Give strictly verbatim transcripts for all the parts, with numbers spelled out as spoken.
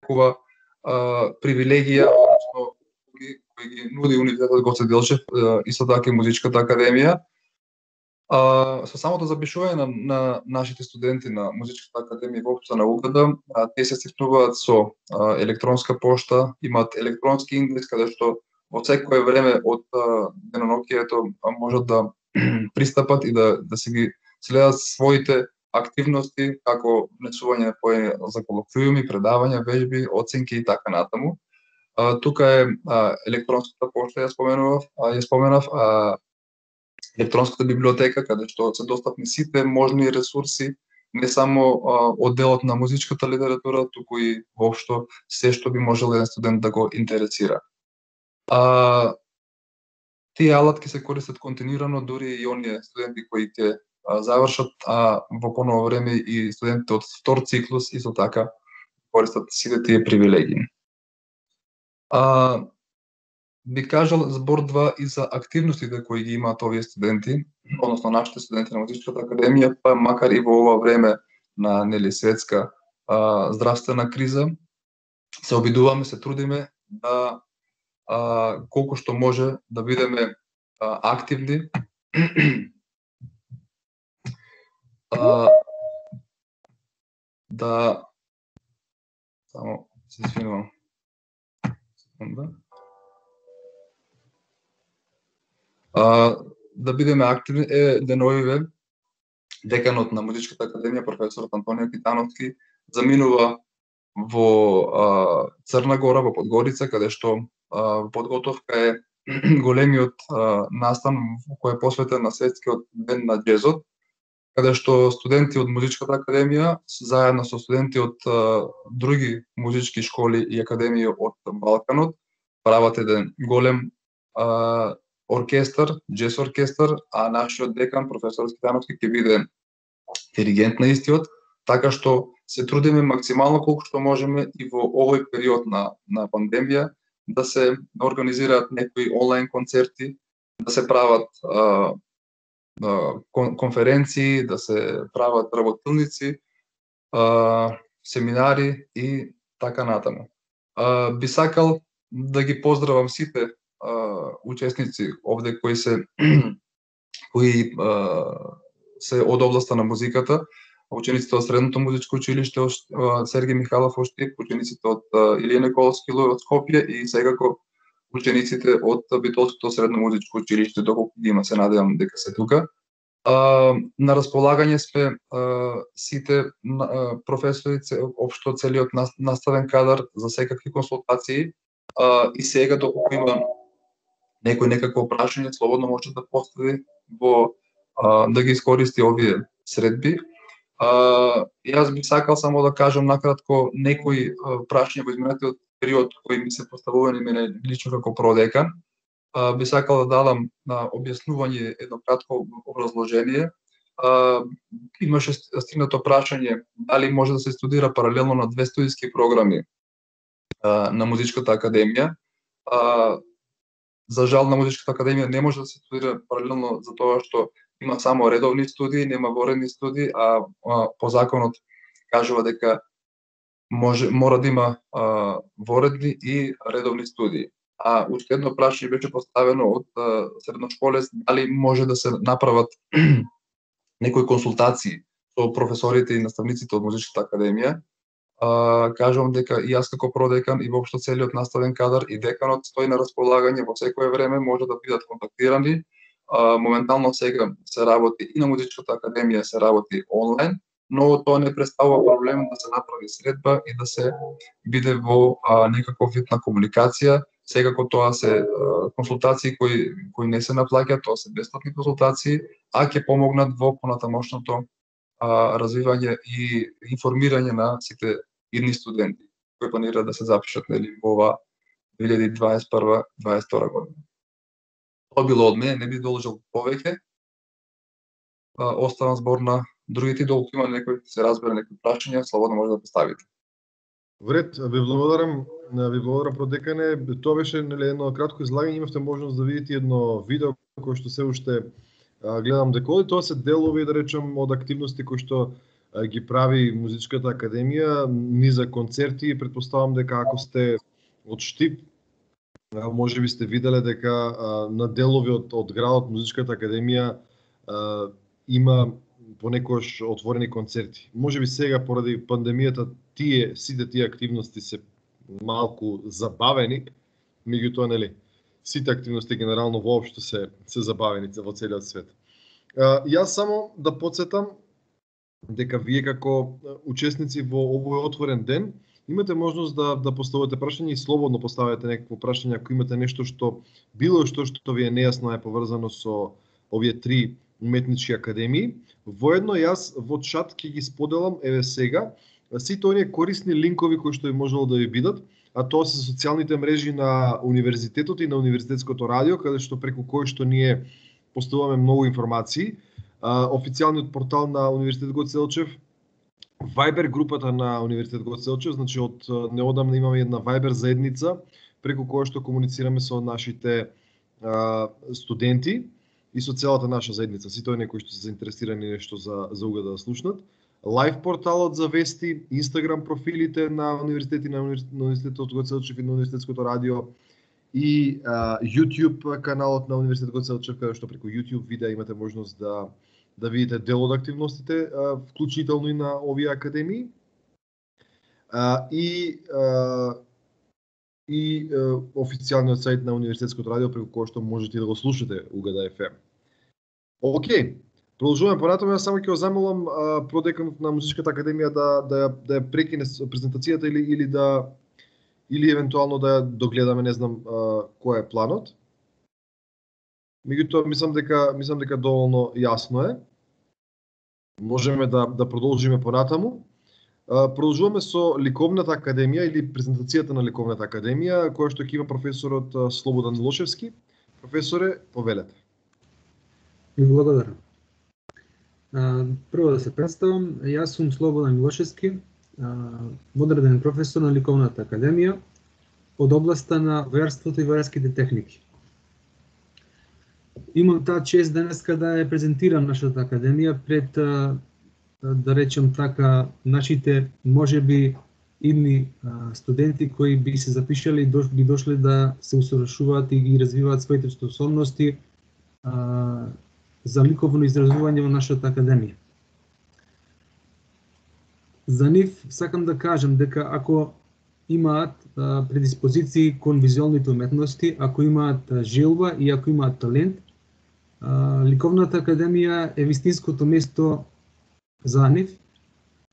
некува привилегија, односно кои ги нуди Универзитетот Гоце Делчев, исто така и Музичката академија. А, со самото запишување на, на нашите студенти на Музичката академија воопшто на У Г Д, те се стикнуваат со а, електронска пошта, имаат електронски индекс каде што во секое време од денонокието можат да пристапат и да да си ги следат своите активности, како внесување за колоквиуми, предавања, вежби, оценки и така натаму. А, тука е а, електронската пошта, ја споменував, а, ја споменав, а, електронската библиотека, каде што се достапни сите можни ресурси, не само а, одделот на музичката литература, туку и воопшто се што би можел еден студент да го интересира. А, тие алатки се користат континуирано, дури и оние студенти кои ќе завршат, а во поново време и студентите од втор циклус исто така користат сите тие привилегии. А, би кажал збор два и за активностите кои ги имаат овие студенти, односно нашите студенти на Музичката академија, па макар и во ова време на нели светска а, здравствена криза, се обидуваме, се трудиме да а, колку што може да бидеме а, активни, а, да само се извинувам. Секунда. А, да бидеме активни е деновиве деканот на Музичката академија професорот Антонио Китановски заминува во а, Црна Гора, во Подгорица, каде што а, подготовка е големиот а, настан кој е посветен на светскиот ден на џезот, каде што студенти од Музичката академија заедно со студенти од а, други музички школи и академии од Балканот прават еден голем а, оркестар, џез оркестар, а нашиот декан професор Китановски ќе биде диригент на истиот, така што се трудиме максимално колку што можеме и во овој период на на пандемија да се организираат некои онлайн концерти, да се прават а, кон, конференции, да се прават работилници, а, семинари и така натаму. А, би сакал да ги поздравам сите а, учесници овде кои се кои а, се од областа на музиката, учениците од Средното музичко училиште Сергеј Михайлов Оштип, учениците од Илија Николовски од Скопје и секако учениците од Битолското средно музичко училиште, доколку ги има, се надевам дека се тука. А, на располагање сме а, сите а, професори, општо целиот наставен кадар за секакви консултации, а, и сега доколку има некој некакво прашање, слободно може да постави во а, да ги искористи овие средби. А, јас би сакал само да кажам накратко некои а, прашања во изминатиот период кои ми се поставувани мене лично како продекан. А, би сакал да дадам на објаснување едно кратко образложение. А, имаше стигнато прашање дали може да се студира паралелно на две студиски програми а, на Музичката академија. А, за жал на Музичката академија не може да се студира паралелно за тоа што има само редовни студии, нема воредни студии, а, а по законот кажува дека може мора да има а, воредни и редовни студии. А уште едно прашање беше поставено од а, средношколец дали може да се направат некои консултации со професорите и наставниците од Музичката академија. А, кажувам дека и јас како продекан и воопшто целиот наставен кадар и деканот стои на располагање во секое време, може да бидат контактирани. А, моментално сега се работи и на Музичката академија се работи онлайн, но тоа не представува проблем да се направи средба и да се биде во а, некаков вид на комуникација. Секако тоа се а, консултации кои кои не се наплаќаат, тоа се бесплатни консултации, а ќе помогнат во понатамошното а, развивање и информирање на сите идни студенти кои планираат да се запишат нели во ова две илјади дваесет и прва дваесет и втора година. Тоа било од мене, не би должел повеќе. Оставам збор на другите, доколку има некој се разбере некои прашања, слободно може да поставите. Вред, ви благодарам, ви благодарам продекане. Тоа беше нели едно кратко излагање, имавте можност да видите едно видео кое што се уште гледам дека тоа се делови, да речем, од активности кои што ги прави Музичката академија, ни за концерти. Претпоставам дека ако сте од Штип, може би сте виделе дека на делови од, од градот Музичката академија има понекогаш отворени концерти. Може би сега поради пандемијата тие сите тие активности се малку забавени, меѓутоа нели сите активности генерално воопшто се се забавени во целиот свет. Јас само да потсетам дека вие како учесници во овој отворен ден имате можност да да поставите прашања и слободно поставете некакво прашање ако имате нешто што било што што ви е нејасно е поврзано со овие три уметнички академии. Воедно јас во чат ќе ги споделам еве сега сите оние корисни линкови кои што би можело да ви бидат, а тоа се социјалните мрежи на универзитетот и на универзитетското радио, каде што преку кој што ние поставуваме многу информации. Официјалниот портал на Универзитет Гоце Делчев, Viber групата на Универзитет Гоце Делчев, значи од неодамна имаме една Viber заедница преку која што комуницираме со нашите а, студенти и со целата наша заедница, сите оние кои што се заинтересирани нешто за за уга да слушнат. Лайв порталот за вести, Инстаграм профилите на универзитети на Универзитетот Гоце Делчев и на Универзитетското радио и а, YouTube каналот на Универзитет Гоце Делчев, каде што преку YouTube видеа имате можност да да видите дел од активностите, а, вклучително и на овие академии. А, и а, и а, официјалниот сајт на Универзитетското радио преку кој што можете да го слушате УГД еф ем. Океј, продолжуваме понатаму. Јас само ќе го замолам продеканот на Музичката академија да да ја да ја прекине презентацијата или или да или евентуално да ја догледаме, не знам а, кој е планот. Меѓутоа мислам дека мислам дека доволно јасно е. Можеме да да продолжиме понатаму. А, продолжуваме со Ликовната академија или презентацијата на Ликовната академија, која што ќе има професорот Слободан Милошевски. Професоре, повелете. Ви благодарам. Прво да се представам, јас сум Слободан Милошевски, одреден професор на Ликовната академија од областа на војарството и војарските техники. Имам таа чест денеска да ја презентирам нашата академија пред, да речем така, нашите можеби идни студенти кои би се запишали и би дошле да се усовршуваат и ги развиваат своите способности за ликовно изразување во нашата академија. За нив сакам да кажам дека ако имаат предиспозиции кон визуелните уметности, ако имаат желба и ако имаат талент, Ликовната академија е вистинското место за нив,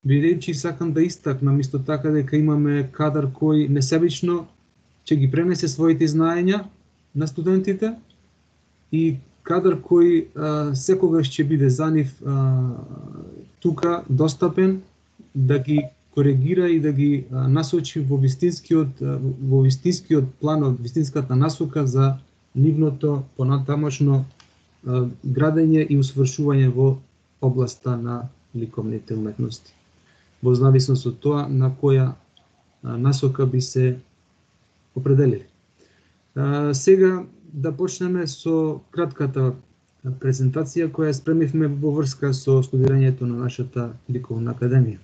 бидејќи сакам да истакнам исто така дека имаме кадар кој несебично ќе ги пренесе своите знаења на студентите и кадар кој а, секогаш ќе биде за нив а, тука достапен да ги коригира и да ги а, насочи во вистинскиот во вистинскиот план, од вистинската насока за нивното понатамошно а, градење и усвршување во областа на ликовните уметности. Во зависност од тоа на која а, насока би се определили. А, сега да почнеме со кратката презентација која спремивме во врска со студирањето на нашата Ликовна академија.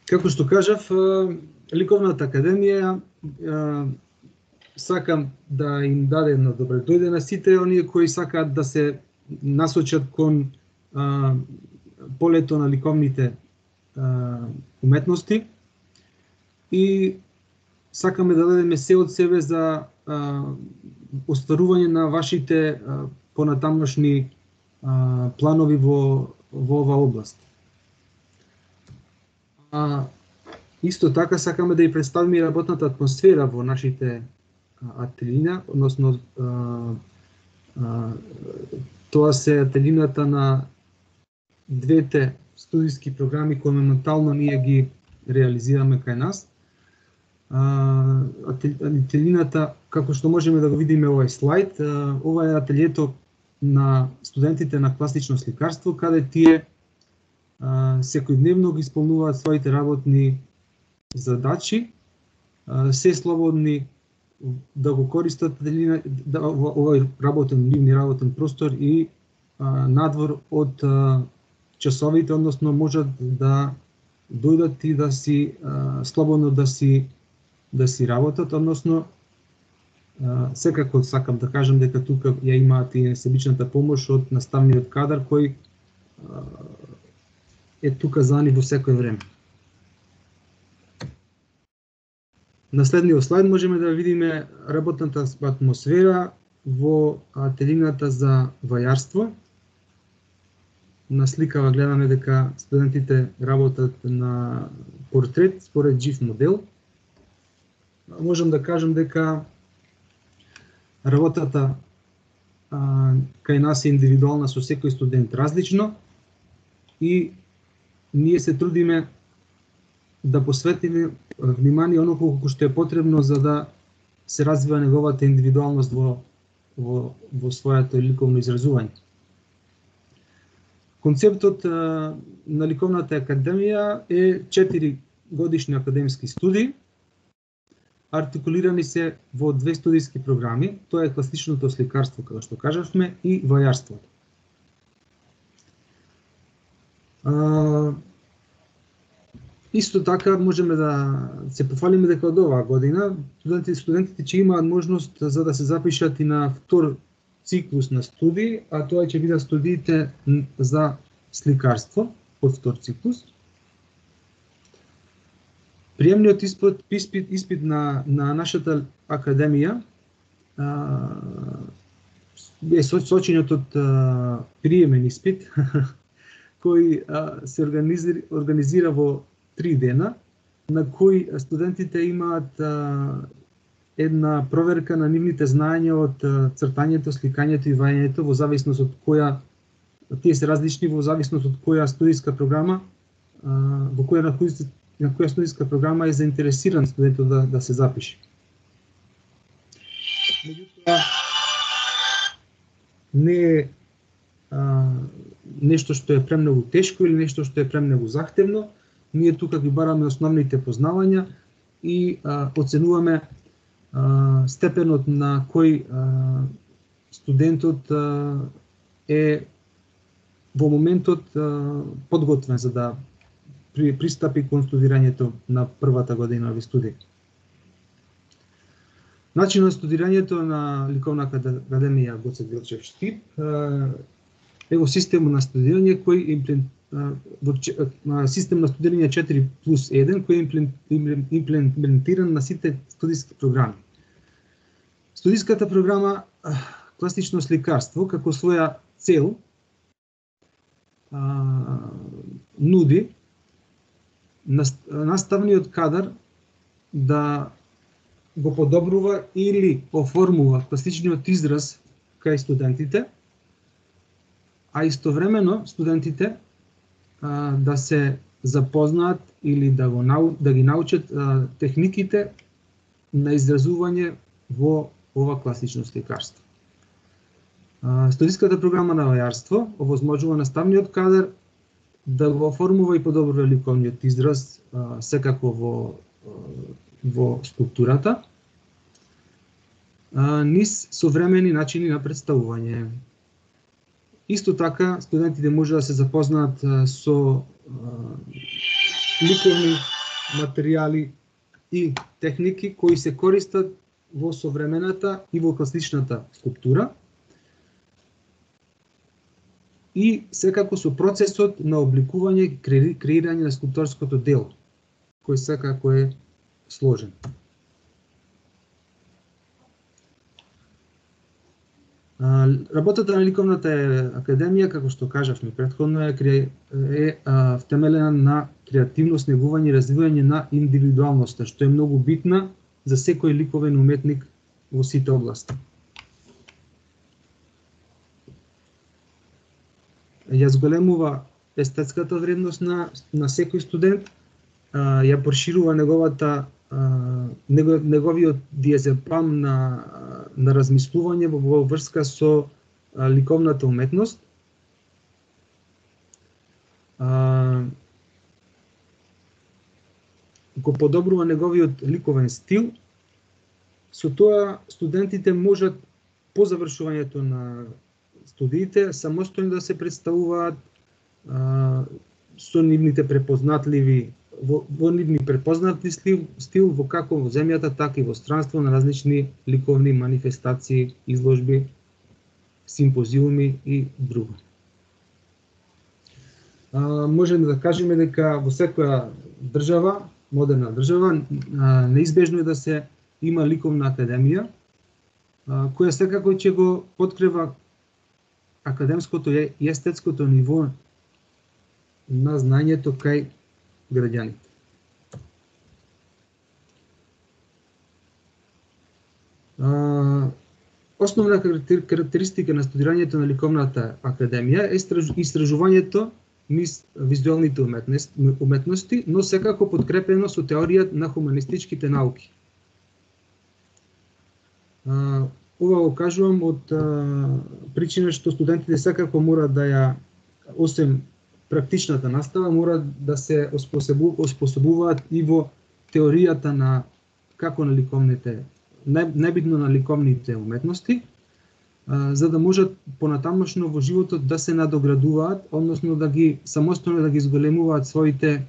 Како што кажав, Ликовната академија сакам да им даде едно добре дојде на сите оние кои сакаат да се насочат кон а, полето на ликовните а, уметности и сакаме да дадеме се од себе за а, остварување на вашите а, понатамошни а, планови во, во оваа област. А, исто така сакаме да ја представиме работната атмосфера во нашите ателина, односно а, а, тоа се ателината на двете студиски програми кои моментално ние ги реализираме кај нас. А, ателината, како што можеме да го видиме овој слайд, а, ова е ателието на студентите на класично сликарство, каде тие а, секојдневно ги исполнуваат своите работни задачи, а, се слободни да го користат да, овој работен, нивни работен простор и а, надвор од а, часовите, односно можат да дојдат и да си а, слободно да си да си работат, односно а, секако сакам да кажам дека тука ја имаат и несебичната помош од наставниот кадар кој а, е тука за нив во секој време. На следниот слайд можеме да видиме работната атмосфера во ателината за вајарство. На сликава гледаме дека студентите работат на портрет според жив модел. Можам да кажам дека работата а, кај нас е индивидуална со секој студент различно и ние се трудиме да посветиме внимание оно колку што е потребно за да се развива неговата индивидуалност во, во, во своето ликовно изразување. Концептот а, на Ликовната академија е четири годишни академски студии, артикулирани се во две студиски програми, тоа е класичното сликарство, како што кажавме, и вајарството. А, Исто така можеме да се пофалиме дека од оваа година студентите, студентите ќе имаат можност за да се запишат и на втор циклус на студии, а тоа ќе бидат студиите за сликарство од втор циклус. Приемниот испит, испит, испит на, на нашата академија а, е сочинет од а, приемен испит кој а, се организира, организира во три дена, на кои студентите имаат а, една проверка на нивните знаења од а, цртањето, сликањето и вајањето во зависност од која, тие се различни во зависност од која студиска програма, а, во која на, кој, на која студиска програма е заинтересиран студентот да, да се запише. Меѓутоа, не е а, нешто што е премногу тешко или нешто што е премногу захтевно. Ние тука ги бараме основните познавања и а, оценуваме а, степенот на кој а, студентот а, е во моментот а, подготвен за да при, пристапи кон студирањето на првата година овие студии. Начинот на студирањето на Ликовна академија Гоце Делчев Штип е во систем на студирање кој во систем на студирање четири плюс еден кој е имплементиран на сите студиски програми. Студиската програма класично сликарство како своја цел а, нуди наставниот кадар да го подобрува или оформува класичниот израз кај студентите, а истовремено студентите а, да се запознаат или да, го, да ги научат а, техниките на изразување во ова класично сликарство. А, студиската програма на вајарство овозможува наставниот кадар да го оформува и подобрува ликовниот израз а, секако во, во скулптурата, а, низ современи начини на представување. Исто така, студентите може да се запознаат со ликовни материјали и техники кои се користат во современата и во класичната скулптура и секако со процесот на обликување и креирање на скулпторското дело, кој секако е сложен. Работата на Ликовната академија, како што кажавме претходно, е, е а, втемелена на креативност, негување и развивање на индивидуалноста, што е многу битна за секој ликовен уметник во сите области. Ја зголемува естетската вредност на, на секој студент, а, ја проширува неговата неговиот диазепам на, на размислување во врска со ликовната уметност, а, го подобрува неговиот ликовен стил. Со тоа студентите можат по завршувањето на студиите самостојно да се представуваат а, со нивните препознатливи во, во нивни препознати стил, стил во како во земјата, така и во странство на различни ликовни манифестации, изложби, симпозиуми и друго. А, можеме да кажеме дека во секоја држава, модерна држава, а, неизбежно е да се има ликовна академија, а, која секако ќе го подкрива академското и естетското ниво на знаењето кај граѓаните. А, основна карактеристика на студирањето на ликовната академија е истражувањето низ визуелните уметности, но секако подкрепено со теорија на хуманистичките науки. А, ова го кажувам од а, причина што студентите секако мора да ја, освен практичната настава, мора да се оспособу, оспособуваат и во теоријата на како на ликовните, најбитно на ликовните уметности, а, за да можат понатамошно во животот да се надоградуваат, односно да ги самостојно да ги зголемуваат своите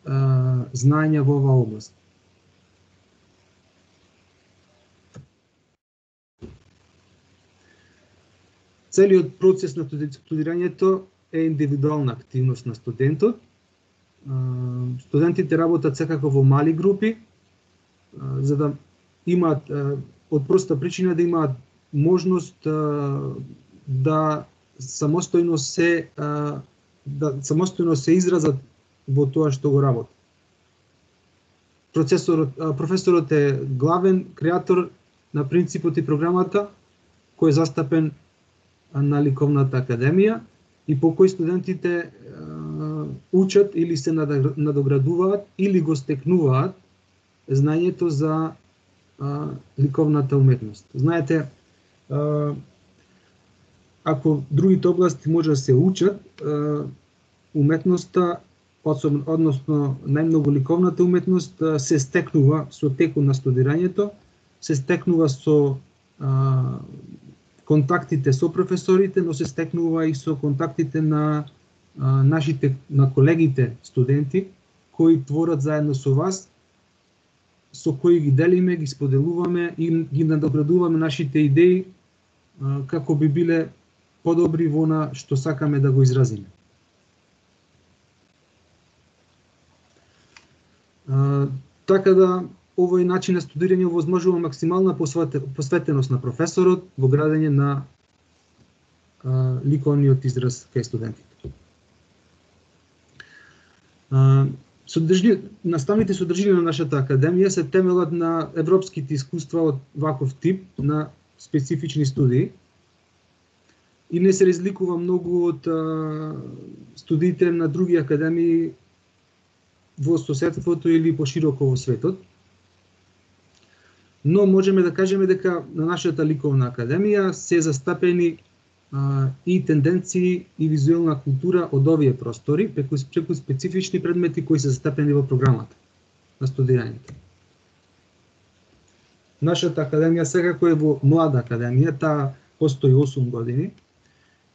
а, знаења во оваа област. Целиот процес на студирањето е индивидуална активност на студентот. Студентите работат секако во мали групи, за да имаат, од проста причина, да имаат можност да самостојно се да самостојно се изразат во тоа што го работат. Процесорот, професорот е главен креатор на принципот и програмата, кој е застапен на ликовната академија и по кој студентите е, учат или се надоградуваат или го стекнуваат знаењето за е, ликовната уметност. Знаете, е, ако другите области може да се учат, е, уметноста, односно најмногу ликовната уметност, е, се стекнува со текот на студирањето, се стекнува со е, контактите со професорите, но се стекнува и со контактите на а, нашите на колегите студенти кои творат заедно со вас, со кои ги делиме, ги споделуваме и ги надоградуваме нашите идеи а, како би биле подобри во она што сакаме да го изразиме. А, така да овој начин на студирање овозможува максимална посветеност на професорот во градење на а, ликовниот израз кај студентите. А, содржи, наставните содржини на нашата академија се темелат на европските искуства од ваков тип на специфични студии и не се разликува многу од а, студиите на други академии во соседството или пошироко во светот. Но можеме да кажеме дека на нашата ликовна академија се застапени а, и тенденции и визуелна култура од овие простори, преку, преку специфични предмети кои се застапени во програмата на студирањето. Нашата академија секако е во млада академија, таа постои осум години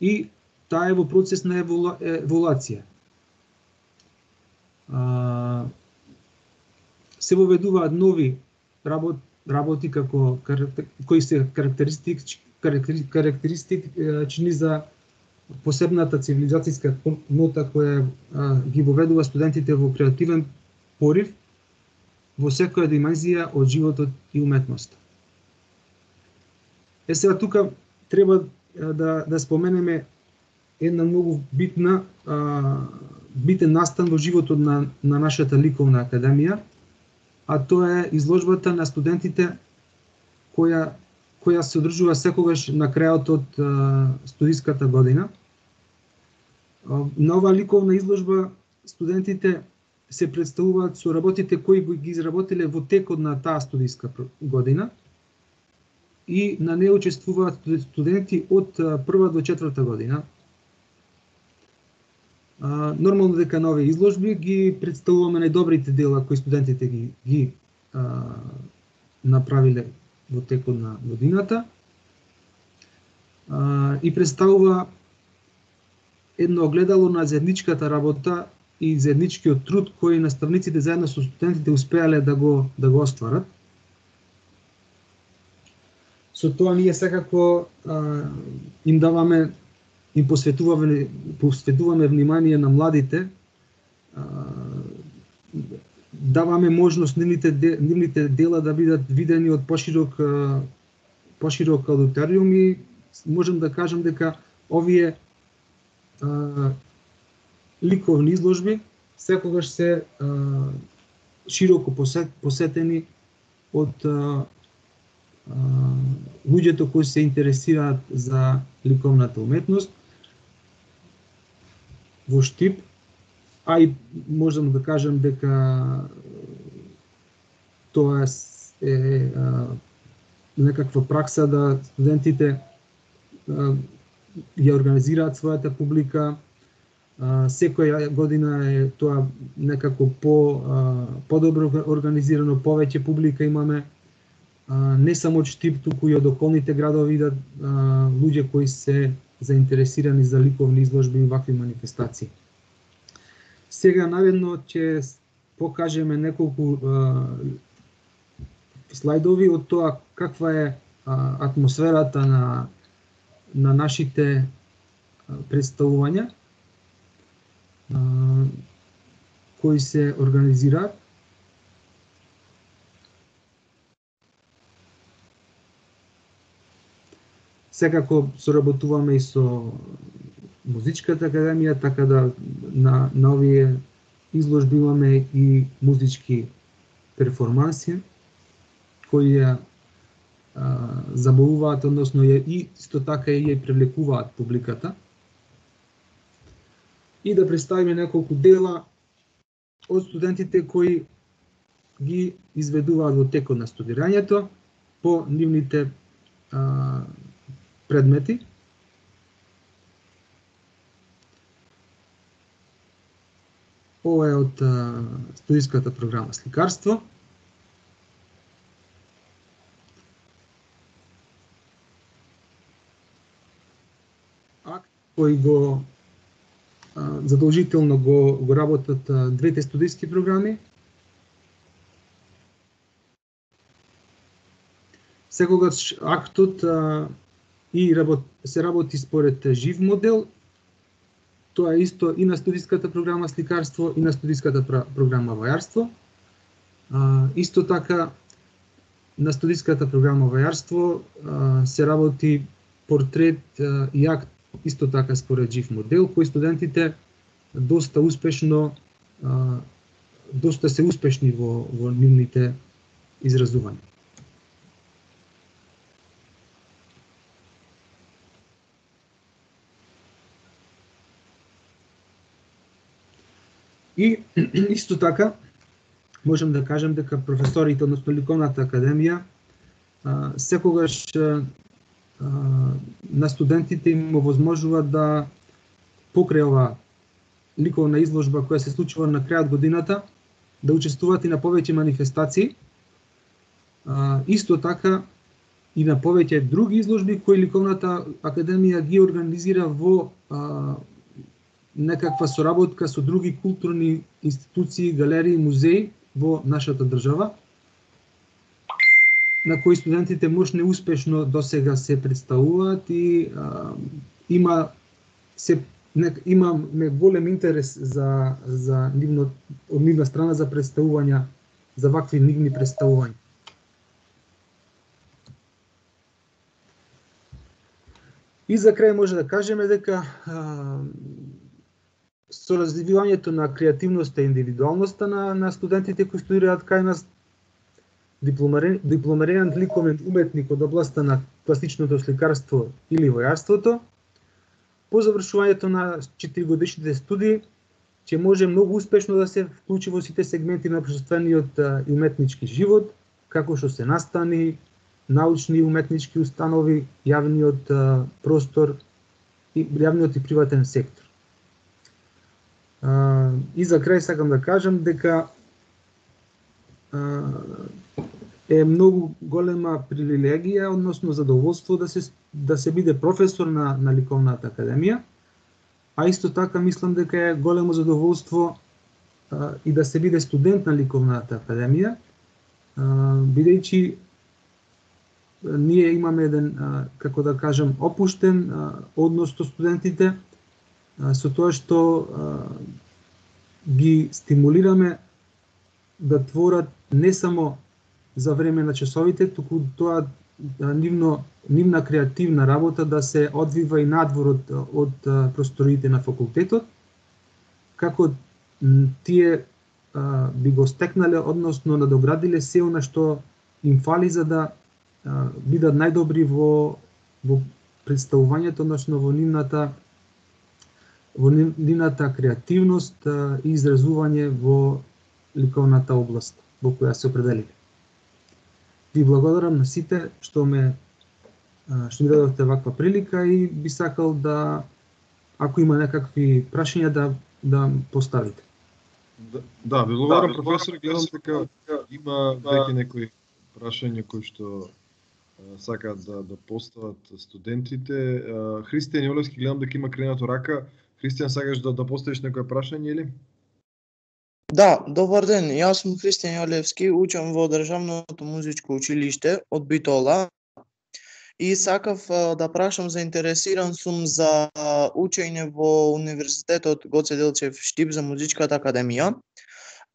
и таа е во процес на еволу, еволуација. А, се воведуваат нови работи, работи како кои се карактеристики карактеристични за посебната цивилизацијска нота која а, ги воведува студентите во креативен порив во секоја димензија од животот и уметноста. Е сега тука треба да да споменеме една многу битна а, битен настан во животот на на нашата ликовна академија, а тоа е изложбата на студентите која која се одржува секогаш на крајот од а, студиската година. А, на оваа ликовна изложба студентите се представуваат со работите кои ги изработиле во текот на таа студиска година и на неа учествуваат студенти од прва до четврта година. А, нормално дека на овие изложби ги представуваме најдобрите дела кои студентите ги, ги а, направиле во текот на годината, а, и представува едно огледало на заедничката работа и заедничкиот труд кој наставниците заедно со студентите успеале да го да го остварат. Со тоа ние секако а, им даваме им посветуваме посветуваме внимание на младите, а, даваме можност нивните нивните дела да бидат видени од поширок поширок аудиториум и можам да кажам дека овие а, ликовни изложби секогаш се а, широко посет, посетени од а, а, луѓето кои се интересираат за ликовната уметност во Штип, а и можам да кажам дека тоа е а, некаква пракса да студентите а, ја организираат својата публика. А, секоја година е тоа некако по а, подобро организирано, повеќе публика имаме. А, не само од Штип, туку и од околните градови да а, луѓе кои се заинтересирани за ликовни изложби и вакви манифестации. Сега наведно ќе покажеме неколку а, слайдови од тоа каква е а, атмосферата на на нашите а, представувања а, кои се организираат. Секако соработуваме и со Музичката академија, така да на, на овие изложби имаме и музички перформанси кои ја а, забавуваат, односно ја и исто така и ја привлекуваат публиката. И да представиме неколку дела од студентите кои ги изведуваат во текот на студирањето по нивните а, предмети. Ова е од а, студиската програма Сликарство. Акт кој го а, задолжително го, го работат а, двете студиски програми. Секогаш актот а, и работ, се работи според жив модел. Тоа е исто и на студиската програма Сликарство и на студиската програма Вајарство. А, исто така на студиската програма Вајарство а, се работи портрет а, и акт исто така според жив модел, кој студентите доста успешно а, доста се успешни во во нивните изразувања. И исто така можам да кажам дека професорите, односно Ликовната академија, а, секогаш а, на студентите им овозможува да покрај ова ликовна изложба која се случува на крајот годината, да учествуваат и на повеќе манифестации, а, исто така и на повеќе други изложби кои Ликовната академија ги организира во а, некаква соработка со други културни институции, галерии, музеи во нашата држава, на кои студентите можне успешно досега се представуваат и а, има се не, имаме голем интерес за за нивно од нивна страна за представувања, за вакви нивни представувања. И за крај може да кажеме дека а, со развивањето на креативноста и индивидуалноста на, на студентите кои студираат кај нас, дипломиран, дипломиран ликовен уметник од областа на класичното сликарство или војарството, по завршувањето на четиригодишните студии ќе може многу успешно да се вклучи во сите сегменти на општествениот и уметнички живот, како што се настани, научни и уметнички установи, јавниот а, простор и јавниот и приватен сектор. А, и за крај сакам да кажам дека а, е многу голема привилегија, односно задоволство да се да се биде професор на на Ликовната академија, а исто така мислам дека е големо задоволство а, и да се биде студент на Ликовната академија, а, бидејќи ние имаме еден, а, како да кажам, опуштен а, однос со студентите, а, со тоа што а, ги стимулираме да творат не само за време на часовите, туку тоа нивно, нивна креативна работа да се одвива и надвор од, од просториите на факултетот, како тие а, би го стекнале, односно надоградиле се она што им фали за да а, бидат најдобри во, во представувањето, односно во нивната во нивната креативност а, и изразување во ликовната област во која се определиле. Ви благодарам на сите што ме што ми дадовте ваква прилика и би сакал да, ако има некакви прашања, да да поставите. Да, да ви благодарам, да, професор, гледам дека има веќе некои прашања кои што а, сакаат да да постават студентите. А, Христијан Јолевски, гледам дека има кренато рака. Христијан, сакаш да да поставиш некое прашање или? Да, добар ден. Јас сум Христијан Јолевски, учам во Државното музичко училиште од Битола. И сакав а, да прашам, заинтересиран сум за а, учење во Универзитетот Гоце Делчев Штип за музичката академија.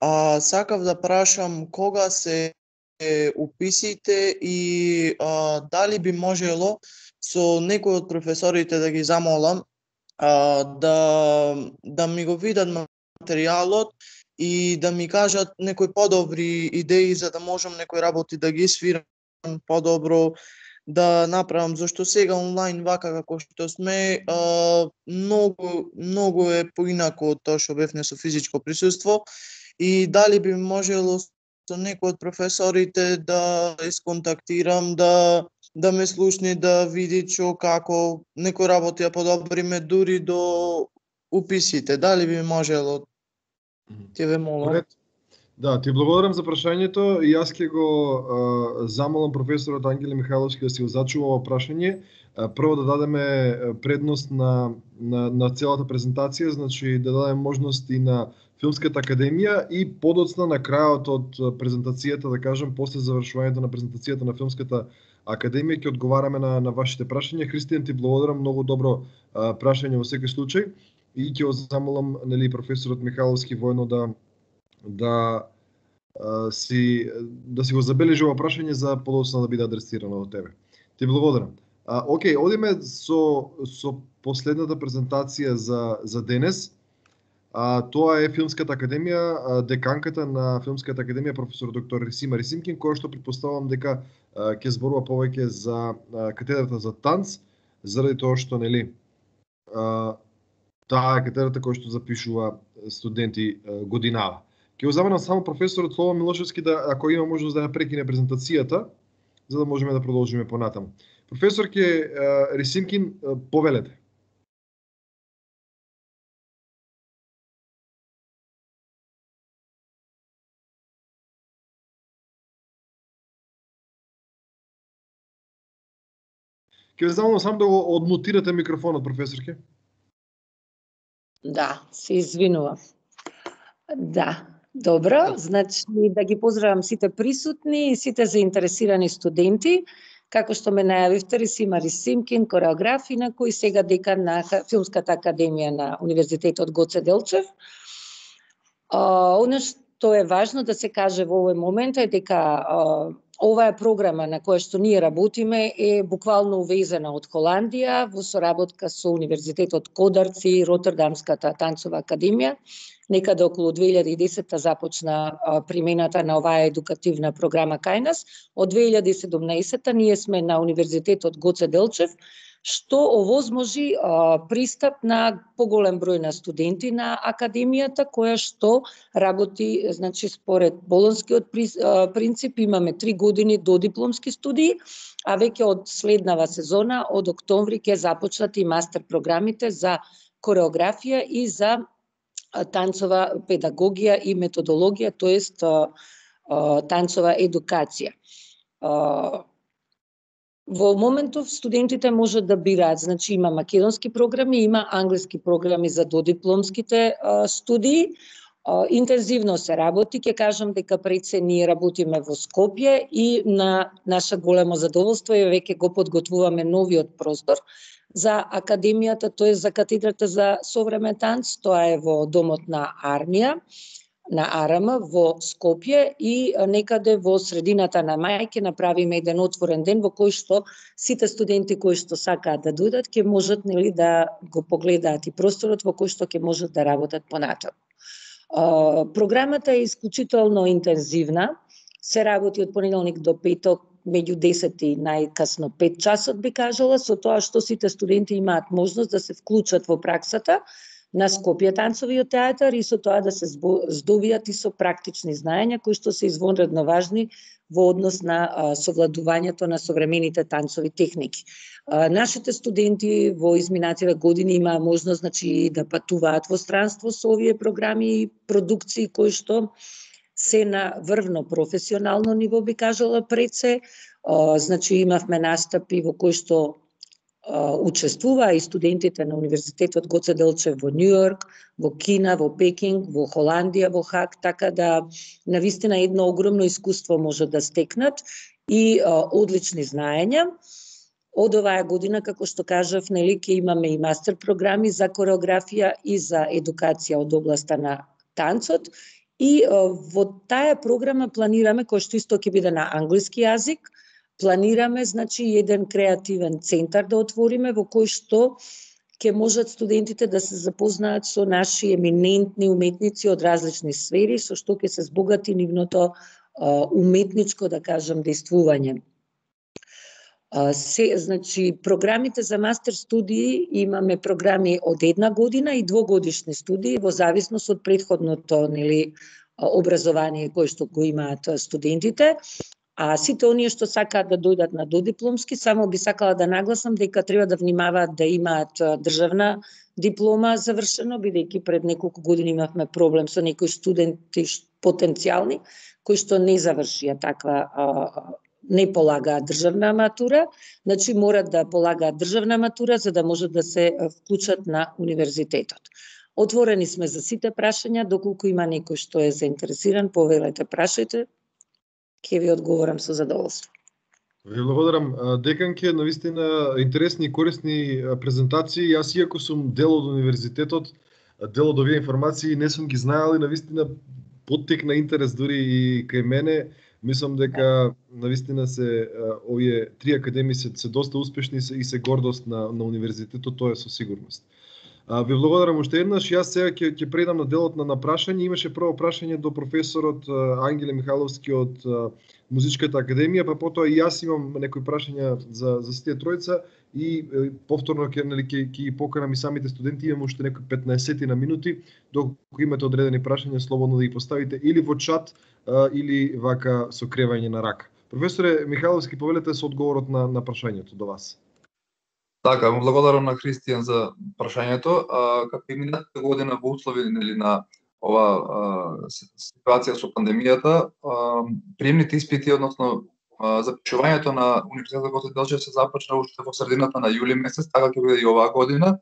А, сакав да прашам кога се е, уписите и а, дали би можело со некој од професорите да ги замолам а, да да ми го видат материјалот и да ми кажат некои подобри идеи за да можам некои работи да ги свирам подобро, да направам, зашто сега онлайн вака како што сме, а, многу многу е поинако од тоа што бевме со физичко присуство и дали би можело со некој од професорите да исконтактирам, да да ме слушне, да види што како некои работи ја подобриме дури до уписите, дали би можело? Ти ве молам. Да, ти благодарам за прашањето и јас ќе го а, замолам професорот Ангеле Михайловски да си го зачува ова прашање. А, прво да дадеме предност на, на, на целата презентација, значи да дадеме можност и на Филмската академија и подоцна на крајот од презентацијата, да кажам, после завршувањето на презентацијата на Филмската академија ќе одговараме на, на вашите прашања. Христијан, ти благодарам, многу добро а, прашање во секој случај и ќе го замолам, нели, професорот Михайловски воено да да а, си да си го забележи ова прашање за подоцна да биде адресирано од тебе. Ти благодарам. А, окей, одиме со со последната презентација за за денес. А, тоа е Филмската академија, а, деканката на Филмската академија професор доктор Рисима Рисимкин, која што претпоставувам дека а, ќе зборува повеќе за а, катедрата за танц, заради тоа што, нели, а, таа е катедрата која што запишува студенти а, годинава. Ќе го заманам само професорот Слободан Милошевски да, ако има можност да ја прекине презентацијата, за да можеме да продолжиме понатаму. Професор ке Рисимкин, повелете. Ќе ве замолам само да го одмутирате микрофонот, професорке. Да, се извинувам. Да, добро, значи да ги поздравам сите присутни и сите заинтересирани студенти. Како што ме најавивте, Рисима Рисимкин, кореограф, на кој сега декан на Филмската академија на Универзитетот Гоце Делчев. Оно што е важно да се каже во овој момент е дека оваа програма на која што ние работиме е буквално увезена од Холандија во соработка со Универзитетот Кодарци и Ротердамската танцова академија. Некаде околу две илјади и десета започна а, примената на оваа едукативна програма кај нас. Од две илјади и седумнаесета ние сме на Универзитетот Гоце Делчев што овозможи а, пристап на поголем број на студенти на академијата, која што работи, значи според болонскиот принцип, имаме три години до дипломски студии, а веќе од следнава сезона, од октомври, ќе започнат и мастер програмите за кореографија и за танцова педагогија и методологија, тоест танцова едукација. Во моментов студентите можат да бираат, значи има македонски програми, има англиски програми за додипломските студии. Интензивно се работи, ќе кажам дека пред се ние работиме во Скопје и на наше големо задоволство е веќе го подготвуваме новиот простор за академијата, тоа е за катедрата за современ танц, тоа е во домот на армија, на АРМ во Скопје и некаде во средината на мај ќе направиме еден отворен ден во кој што сите студенти кои што сакаат да дојдат ќе можат, нели, да го погледаат и просторот во кој што ќе можат да работат понатаму. Програмата е исклучително интензивна, се работи од понеделник до петок меѓу десет и најкасно пет часот, би кажала, со тоа што сите студенти имаат можност да се вклучат во праксата на Скопје танцовиот театар и со тоа да се здобијат и со практични знаења кои што се извонредно важни во однос на а, совладувањето на современите танцови техники. А, нашите студенти во изминативе години имаа можност, значи, да патуваат во странство со овие програми и продукции кои што се на врвно професионално ниво, би кажала пред се. А, значи имавме настапи во кои што учествуваа и студентите на Универзитетот Гоце Делчев во Њу Јорк, во Кина, во Пекинг, во Холандија, во Хаг, така да навистина едно огромно искуство може да стекнат и а, одлични знаења. Од оваа година, како што кажав, нели, ќе имаме и мастер програми за кореографија и за едукација од областа на танцот и а, во таа програма планираме, кој што исто ќе биде на англиски јазик, планираме, значи, еден креативен центар да отвориме во кој што ќе можат студентите да се запознаат со наши еминентни уметници од различни сфери, со што ќе се збогати нивното а, уметничко, да кажам, действување. А, се, значи, програмите за мастер студии имаме програми од една година и двогодишни студии во зависност од претходното, нели, образование кој што го имаат студентите. А сите оние што сакаат да дојдат на додипломски, само би сакала да нагласам дека треба да внимаваат да имаат државна диплома завршено, бидејќи пред неколку години имавме проблем со некои студенти потенцијални кои што не завршија таква, не полагаат државна матура, значи морат да полагаат државна матура за да можат да се вклучат на универзитетот. Отворени сме за сите прашања, доколку има некој што е заинтересиран, повелете, прашајте. Ќе ви одговорам со задоволство. Ви благодарам. Деканке, навистина интересни и корисни презентации. Јас, иако сум дел од универзитетот, дел од овие информации, не сум ги знаел и навистина поттекна интерес дури и кај мене. Мислам дека навистина се овие три академии се, се доста успешни и се гордост на, на универзитетот, тоа е со сигурност. Ви благодарам уште еднаш. Јас сега ќе ќе предам на делот на прашање. Имаше прво прашање до професорот Ангеле Михайловски од Музичката академија, па потоа и јас имам некои прашања за за сите тројца и повторно ќе нели ќе ќе ги поканам и самите студенти. Имам уште некои петнаесет на минути, доколку имате одредени прашања, слободно да ги поставите или во чат или вака со кревање на рака. Професоре Михайловски, повелете со одговорот на на прашањето до вас. Така, му благодарам на Христијан за прашањето. Како и минатата година во услови, нели, на ова а, ситуација со пандемијата, а, приемните испити, односно а, запишувањето на Универзитетот Гоце Делчев се започна уште во средината на јули месец, така ќе биде и оваа година.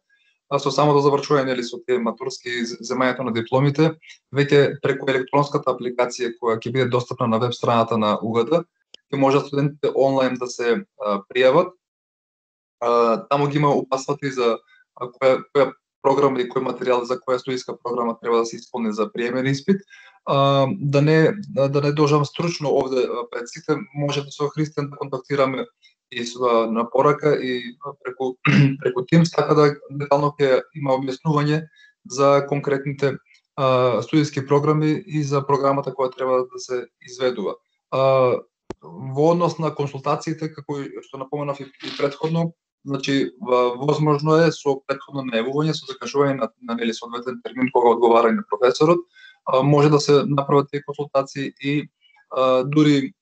А со самото завршување, нели, со тие матурски земањето на дипломите, веќе преку електронската апликација која ќе биде достапна на веб страната на У Г Д, ќе можат студентите онлайн да се а, пријават. Uh, таму ги има упатствата и за uh, која, која програма и кој материјал за која студиска програма треба да се исполни за приемен испит. Uh, да не да не дожам стручно овде uh, пред сите, можете со Христијан да контактираме и со uh, на порака и uh, преку преку Teams, така да детално ќе има објаснување за конкретните uh, студиски програми и за програмата која треба да се изведува. Uh, во однос на консултациите, како што напоменав и, и претходно, значи возможно е со претходно најавување, со закажување на, на нели соодветен термин кога одговара на професорот, може да се направат тие консултации и а, дури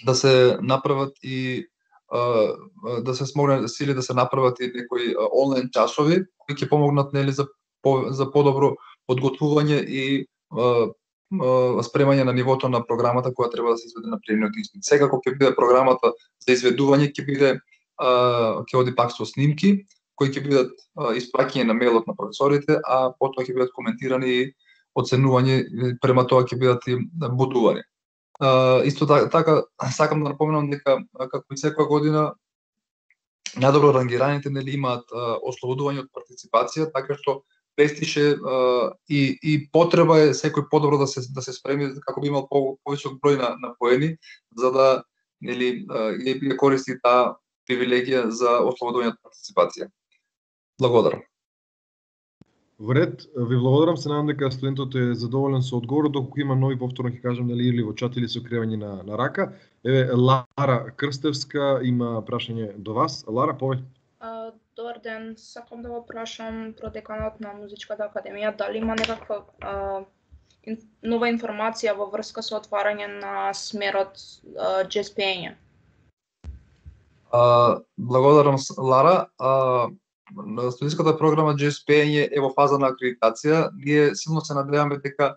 да се направат и а, да се смогне сили да се направат и некои онлайн часови кои ќе помогнат нели за по, за подобро подготвување и а, а, спремање на нивото на програмата која треба да се изведе на приемниот испит. Секако ќе биде програмата за изведување ќе биде ќе оди пак со снимки кои ќе бидат испраќани на мејлот на професорите, а потоа ќе бидат коментирани и оценување, према тоа ќе бидат и бодувани. Uh, исто така, сакам да напоменам дека како и секоја година најдобро рангираните нели имаат uh, ослободување од партиципација, така што пестише uh, и и потреба е секој подобро да се да се спреми како би имал по, повисок број на на поени за да нели uh, ја користи таа привилегија за ослободување од партиципација. Благодарам. Во ред, ви благодарам, се надам дека студентот е задоволен со одговорот, доколку има нови, повторно ќе кажам, нели, или во чат или со кревање на, на рака. Еве, Лара Крстевска има прашање до вас. Лара, повеќе. Uh, добар ден, сакам да го прашам продеканот на Музичката академија, дали има некаква uh, ин, нова информација во врска со отварање на смерот uh, джез пеење? Uh, благодарам, Лара. Uh, Студентската програма джез пеење е во фаза на акредитација. Ние силно се надеваме дека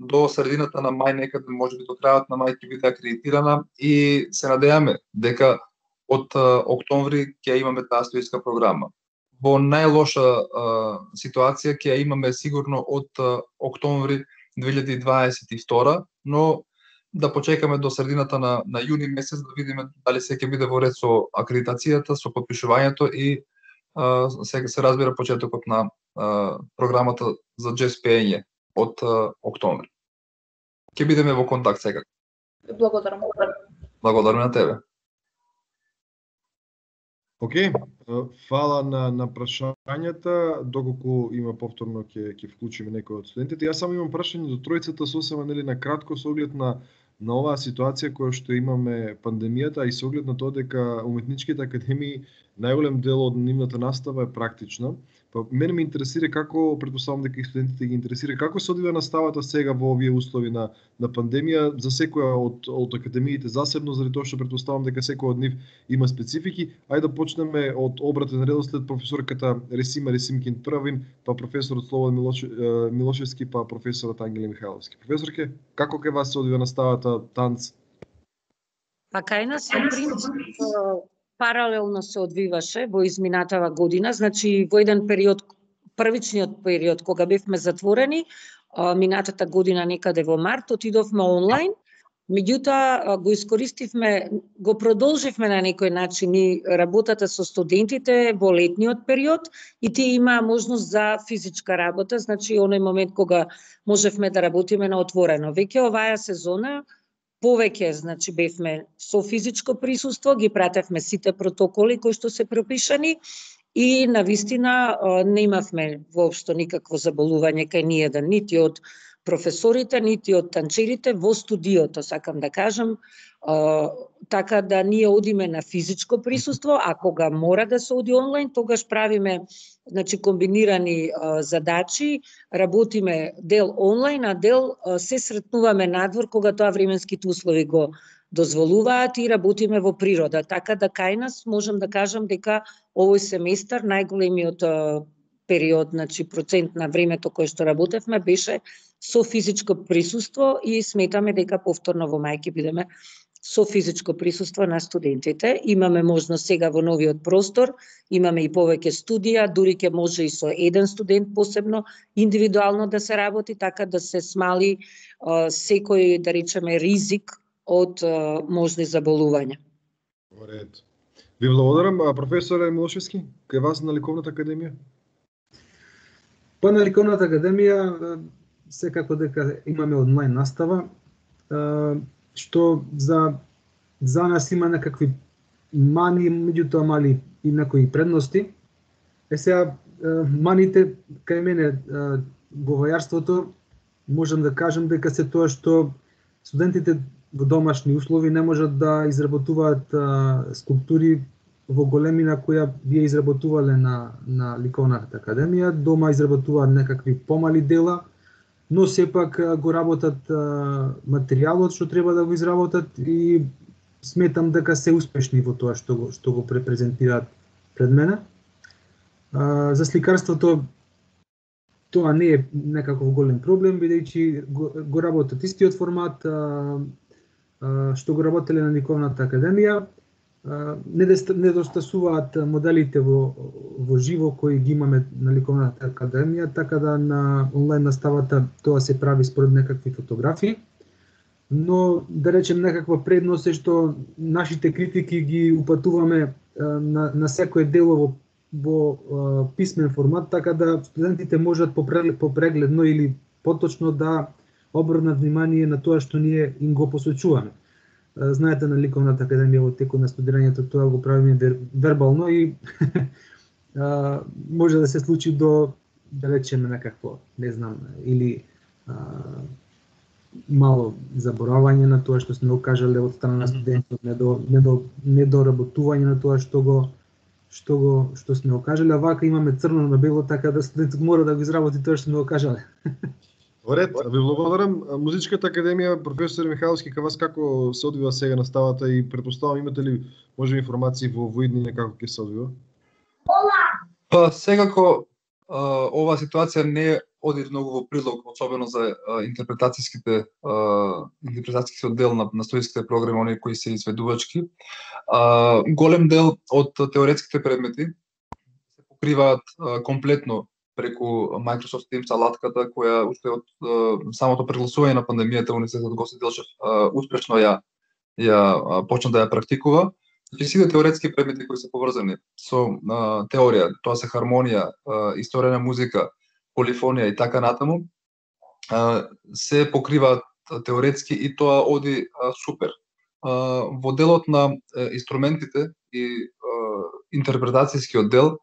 до средината на мај, некаде можеби до крајот на мај ќе биде акредитирана и се надеваме дека од uh, октомври ќе имаме таа студентска програма. Во најлоша uh, ситуација ќе имаме сигурно од uh, октомври две илјади дваесет и втора, но да почекаме до средината на, на јуни месец да видиме дали се ќе биде во ред со акредитацијата, со подпишувањето и Uh, сега се разбира почетокот на uh, програмата за джез пеење од uh, октомври. Ќе бидеме во контакт сега. Благодарам. Благодарам на тебе. Океј, okay. Фала на, на прашањата, доколку има повторно ќе ќе вклучиме некој од студентите. Јас само имам прашање до тројцата сосема нели на кратко со оглед на на оваа ситуација која што имаме пандемијата и со оглед на тоа дека уметничките академии најголем дел од нивната настава е практична. Па мене ме интересира како, претпоставам дека и студентите ги интересира, како се одвива наставата сега во овие услови на на пандемија за секоја од од академиите засебно, заради тоа што претпоставам дека секој од нив има специфики. Ајде да почнеме од обратен редослед, професорката Ресима Ресимкин првин, па професорот Слободан Милош, Милошевски, па професорот Ангеле Михайловски. Професорке, како кај вас се одвива наставата танц? Па кај нас во принцип паралелно се одвиваше во изминатава година, значи во еден период, првичниот период кога бевме затворени, минатата година некаде во март, отидовме онлайн, меѓутоа го искористивме, го продолживме на некој начин и работата со студентите во летниот период и тие имаа можност за физичка работа, значи оној момент кога можевме да работиме на отворено. Веќе оваа сезона повеќе, значи бевме со физичко присуство, ги пратевме сите протоколи кои што се пропишани и навистина не имавме воопшто никакво заболување кај ниеден, нити од професорите, нити од танчерите во студиото, сакам да кажам, така да ние одиме на физичко присуство, а кога мора да се оди онлайн, тогаш правиме значи комбинирани а, задачи, работиме дел онлайн, а дел а, се сретнуваме надвор кога тоа временските услови го дозволуваат и работиме во природа. Така да кај нас можам да кажам дека овој семестар најголемиот а, период, значи процент на времето кое што работевме беше со физичко присуство и сметаме дека повторно во мај ќе бидеме со физичко присуство на студентите. Имаме можност сега во новиот простор, имаме и повеќе студија, дури ќе може и со еден студент посебно, индивидуално да се работи, така да се смали а, секој, да речеме, ризик од а, можни заболувања. Во ред. Ви благодарам, а, професоре Милошевски, кај вас на Ликовната академија? Па на Ликовната академија секако дека имаме онлайн настава, што за за нас има некакви мани, меѓутоа мали и некои предности. Е сега маните кај мене говојарството можам да кажам дека се тоа што студентите во домашни услови не можат да изработуваат скулптури во големина која вие изработувале на, на Ликовната академија, дома изработуваат некакви помали дела, но сепак го работат а, материјалот што треба да го изработат и сметам дека се успешни во тоа што го, што го препрезентираат пред мене. А, за сликарството тоа не е некаков голем проблем, бидејќи го, го работат истиот формат а, а, што го работеле на Ликовната академија. Недостасуваат моделите во, во живо кои ги имаме на Ликовната академија, така да на онлайн наставата тоа се прави според некакви фотографии. Но, да речем, некаква предност е што нашите критики ги упатуваме на, на секое дело во, во писмен формат, така да студентите можат попрегледно или поточно да обрнат внимание на тоа што ние им го посочуваме. Знаете, на Ликовната академија во текот на студирањето тоа го правиме вер, вербално и а, може да се случи до, да речеме, некакво, не знам, или а, мало заборавање на тоа што сме го кажале од страна на студентот, недо, недо, недоработување на тоа што го што го што сме го кажале, а вака имаме црно на бело, така да студентот мора да го изработи тоа што сме го кажале. Во ред, ви благодарам. Музичката академија, професор Михайловски, кај вас како се одвива сега наставата и претпоставам имате ли може информации во во иднина како ќе се одвива? Па секако оваа ситуација не оди многу во прилог, особено за а, интерпретацијските а, интерпретацијските оддел на, на студијските програми, оние кои се изведувачки. А, голем дел од теоретските предмети се покриваат а, комплетно преку Microsoft Teams алатката, која уште од а, самото прегласување на пандемијата универзитетот Гоце Делчев а, успешно ја ја а, почна да ја практикува. И сите теоретски предмети кои се поврзани со а, теорија, тоа се хармонија, а, историја на музика, полифонија и така натаму, а, се покриваат теоретски и тоа оди а, супер. А, во делот на а, инструментите и а, интерпретацијскиот дел,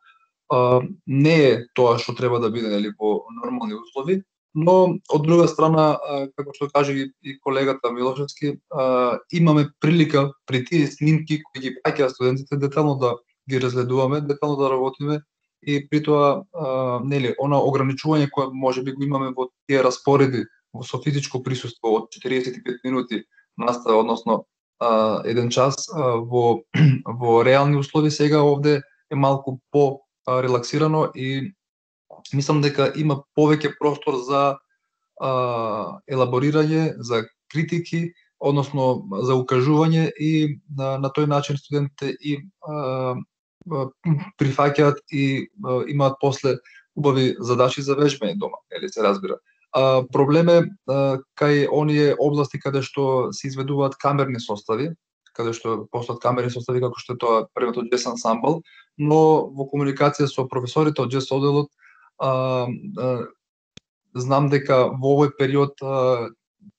Uh, не е тоа што треба да биде, нели, во нормални услови, но од друга страна, uh, како што каже и, и колегата Милошевски, uh, имаме прилика при тие снимки кои ги праќаат студентите детално да ги разгледуваме, детално да работиме и при тоа uh, нели, она ограничување кое можеби го имаме во тие распореди во со физичко присуство од четиридесет и пет минути настава, односно uh, еден час uh, во во реални услови сега овде е малку по релаксирано и мислам дека има повеќе простор за а, елаборирање, за критики, односно за укажување и на, на тој начин студентите и а, прифаќаат и а, имаат после убави задачи за вежбање дома, или се разбира. А, проблем е а, кај оние области каде што се изведуваат камерни состави, каде што постојат камерни состави како што е тоа првото джез ансамбл, но во комуникација со професорите од джез одделот а, а, знам дека во овој период а,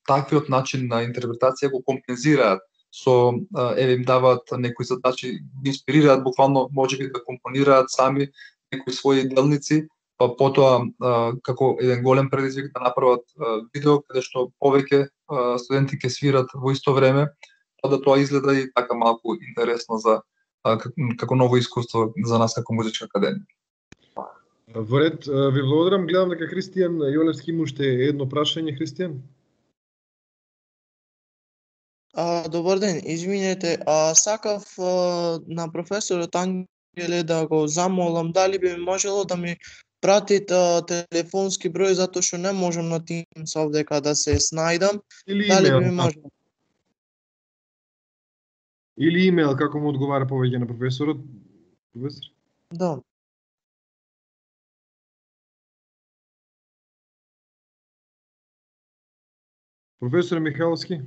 таквиот начин на интерпретација го компензираат со а, еве им даваат некои задачи, ги инспирираат буквално можеби да компонираат сами некои своји делници, па потоа а, како еден голем предизвик да направат а, видео каде што повеќе а, студенти ќе свират во исто време, па да тоа изгледа и така малку интересно за а, како ново искуство за нас како музичка академија. Во ред, ви благодарам. Гледам дека Христијан Јолевски има уште едно прашање. Христијан? А, добар ден, извинете, а сакав а, на професорот Ангеле да го замолам дали би можело да ми пратит а, телефонски број, затоа што не можам на Teams овдека да се снајдам. Или Дали имейл? би можело? Или имейл, како му одговара повеќе на професорот? Професор? Да. Професор Михайловски?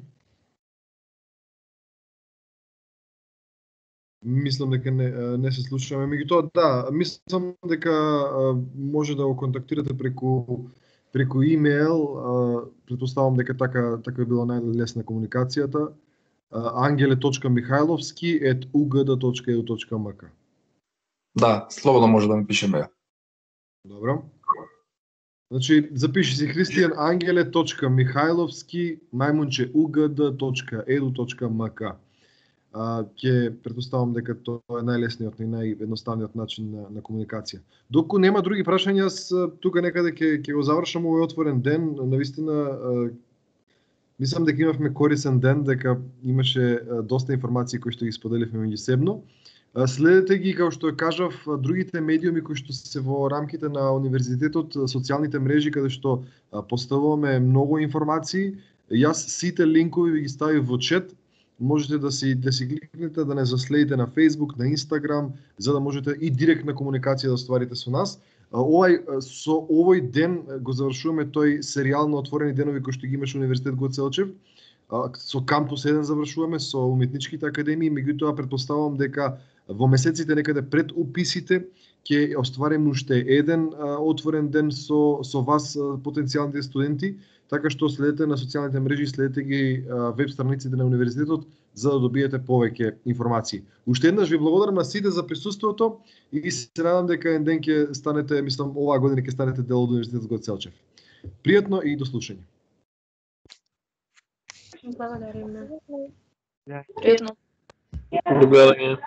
Мислам дека не, не се слушаме. Меѓутоа, да, мислам дека а, може да го контактирате преку преку имейл. А, претпоставам дека така така би била најлесна комуникацијата. ангеле точка михайловски ет у г д точка е ду точка ем к. Да, слободно може да ми пишеме ја. Добро. Значи, запиши си Христијан ангеле точка михайловски најмунче у г д точка е ду точка ем к. а, ќе претпоставам дека тоа е најлесниот и наједноставниот начин на, на комуникација. Доколку нема други прашања, јас тука некаде ќе ќе го завршам овој отворен ден. Навистина мислам дека имавме корисен ден, дека имаше доста информации кои што ги споделивме меѓусебно. Следете ги, како што кажав, другите медиуми кои што се во рамките на универзитетот, социјалните мрежи каде што поставуваме многу информации. Јас сите линкови ви ги ставив во чет. Можете да си да си кликнете, да не заследите на Facebook, на Instagram, за да можете и директна комуникација да остварите со нас. Овај со овој ден го завршуваме тој серијал на отворени денови кој што ги имаше Универзитет Гоце Делчев. Со кампус еден завршуваме, со уметничките академии, меѓутоа претпоставувам дека во месеците некаде пред уписите ќе оствариме уште еден а, отворен ден со со вас а, потенцијалните студенти, така што следете на социјалните мрежи, следете ги а, веб страниците на универзитетот за да добиете повеќе информации. Уште еднаш ви благодарам на сите за присуството и се надам дека еден ден ќе станете, мислам, оваа година ќе станете дел од Универзитетот Гоце Делчев. Пријатно и до слушање. Благодариме. Пријатно. Благодарам.